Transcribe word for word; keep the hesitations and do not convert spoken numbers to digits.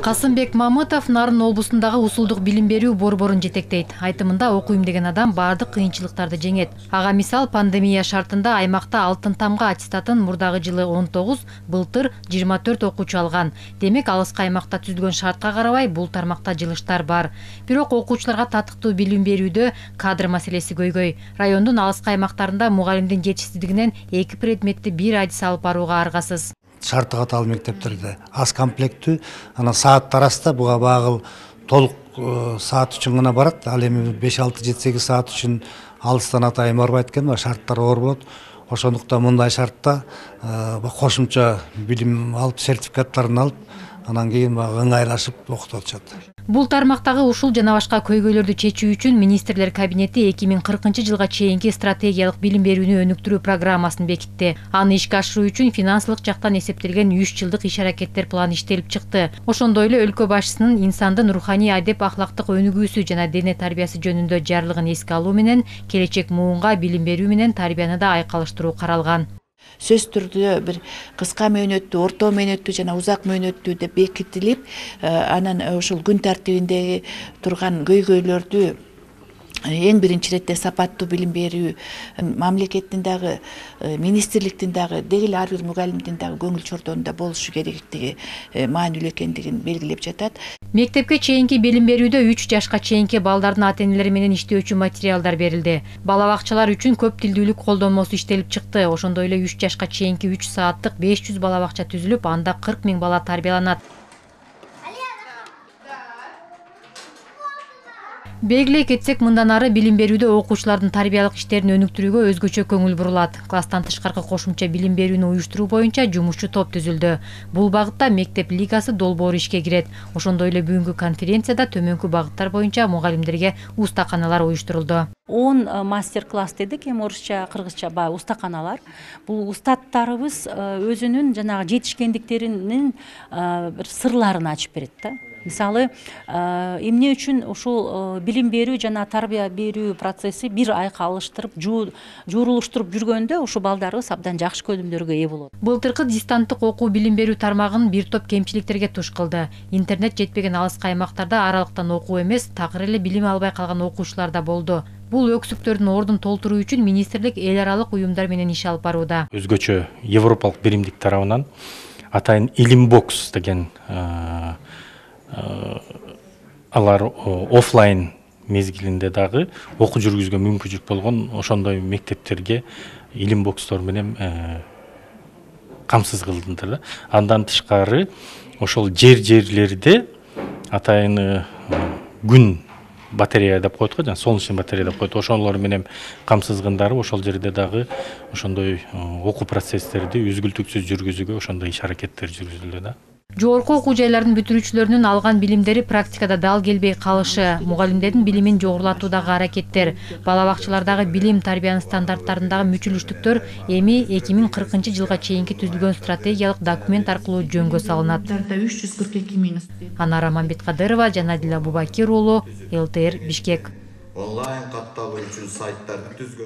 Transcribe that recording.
Касымбек Мамытов Нарын облусундагы усулдук билим берүү борборун жетектейт. Айтымында окуйм деген адам бардык кыйынчылыктарды жеңет. Ага мисал пандемия шартында аймакта алтын тамга аттестатын мурдагы жылы он тогуз, былтыр жыйырма төрт окуучу алган. Демек алыскы аймакта түзүлгөн шартка карабай бул тармакта жылыштар бар. Бирок окуучуларга татыктуу билим берүүдө кадр маселеси көйгөй. Райондун алыскы аймактарында мугалимдин жетишсиздигинен эки предметти бир айдыс алып барууга аргасыз. Шарты катаал мектептерде аз комплектүү, анан сааттар аста буга багыл толук саат үчүн гана барат. Ал эми беш алты жети сегиз саат үчүн алыстан атайын барбайт экен, шарттар оор болот. Ошондуктан мындай шартта кошумча билим алып, сертификаттарын алып, анан кийин ыңгайлашып окутуп атышат. Бул тармактагы ушул жана башка көйгөйлөрдү чечүү үчүн министрлер кабинети эки миң кыркынчы жылга чейинки стратегиялык билим берүүнү өнүктүрүү программасын бекитти. Аны ишке ашыруу үчүн финансылык жактан эсептелген үч жылдык иш-аракеттер планы иштелип чыкты. Ошондой эле өлкө башчысынын инсандын руханий адеп ахлактык өнүгүүсү жана дене тарбиясы жөнүндө жарлыгын эске алуу менен келечек муунга билим берүү менен тарбияны да айкалыштыруу каралган. Сөз түрдө бир кыска мөөнөттүү, орто мөөнөттүү жана узак мөөнөттүү деп бекитилип, анан ушул күн тартибиндеги турган көйгөйлөрдү эң биринчи иретте сапаттуу билим берүү, мамлекеттин дагы, министрликтин дагы, деги эле ар бир мугалимдин дагы көңүл чордонунда болушу керектиги маанилүү экендигин белгилеп жатат. Мектепке чейинки билим берүүдө үч жашка чейинки балдардын ата-энелери менен иштөөчү материалдар берилди. Бала бакчалар үчүн көп тилдүүлүк колдонмосу иштелип чыкты. Ошондой эле үч жашка чейинки үч сааттык беш жүз бала бакча түзүлүп, анда кырк миң бала тарбияланат. Белгилей кетсек, мындан ары билим берүүдө окуучулардын тарбиялык иштерин өнүктүрүүгө өзгөчө көңүл бурулат. Класстан тышкаркы кошумча билим берүүнү уюштуруу боюнча жумушчу топ түзүлдү. Бул багытта мектеп лигасы долбоору ишке кирет. Ошондой эле бүгүнкү конференцияда төмөнкү багыттар боюнча мугалимдерге устаканалар уюштурулду. он мастер-класс дедик, эми орусча, кыргызча баягы устаканалар. Бул устаттарыбыз өзүнүн жанагы жетишкендиктеринин бир сырларын ачып берет да. Мисалы, эмне үчүн ушул билим берүү жана тарбия берүү процесси бир айга алыштырып, жуурулуштуруп жүргөндө ушул балдарыбыз абдан жакшы көнүмдөргө ээ болот. Былтыркы дистанттык окуу билим берүү тармагын бир топ кемчиликтерге туш кылды. Интернет жетпеген алыскы аймактарда аралыктан окуу эмес, такыр эле билим албай калган окуучулар да болду. Бул өксүктөрдүн ордун толтуруу үчүн министрлик эл аралык уюмдар менен иш алып барууда. Өзгөчө европалык биримдик тарабынан атайын Илимбокс деген алар офлайн мезгилинде дагы окуу жүргүзүүгө мүмкүнчүлүк болгон ошондой мектептерге Илимбокстор менен камсыз кылдылар. Андан тышкары ошол жер-жерлерде атайын күн батарея деп коет го, жана солнечный батарея деп коет. Ошолор менен камсызгындары ошол жерде дагы ошондой окуу процесстерди үзгүлтүксүз жүргүзүүгө ошондой иш-аракеттер жүргүзүлдү да. Жогорку окуу жайлардын бүтүрүүчүлөрүнүн алган билимдери практикада дал келбей калышы, мугалимдердин билимин жогорулатуудагы аракеттер, бала бакчалардагы билим тарбиянын стандарттарындагы мүчүлүштүктөр эми эки миң кыркынчы жылга чейинки түзүлгөн стратегиялык документ аркылуу жөнгө салынат. Анара Мамбеткадырова, Жанадил Абубакир уулу, эл тэ эр Бишкек. Онлайн катталуу үчүн сайттарды түзгөн.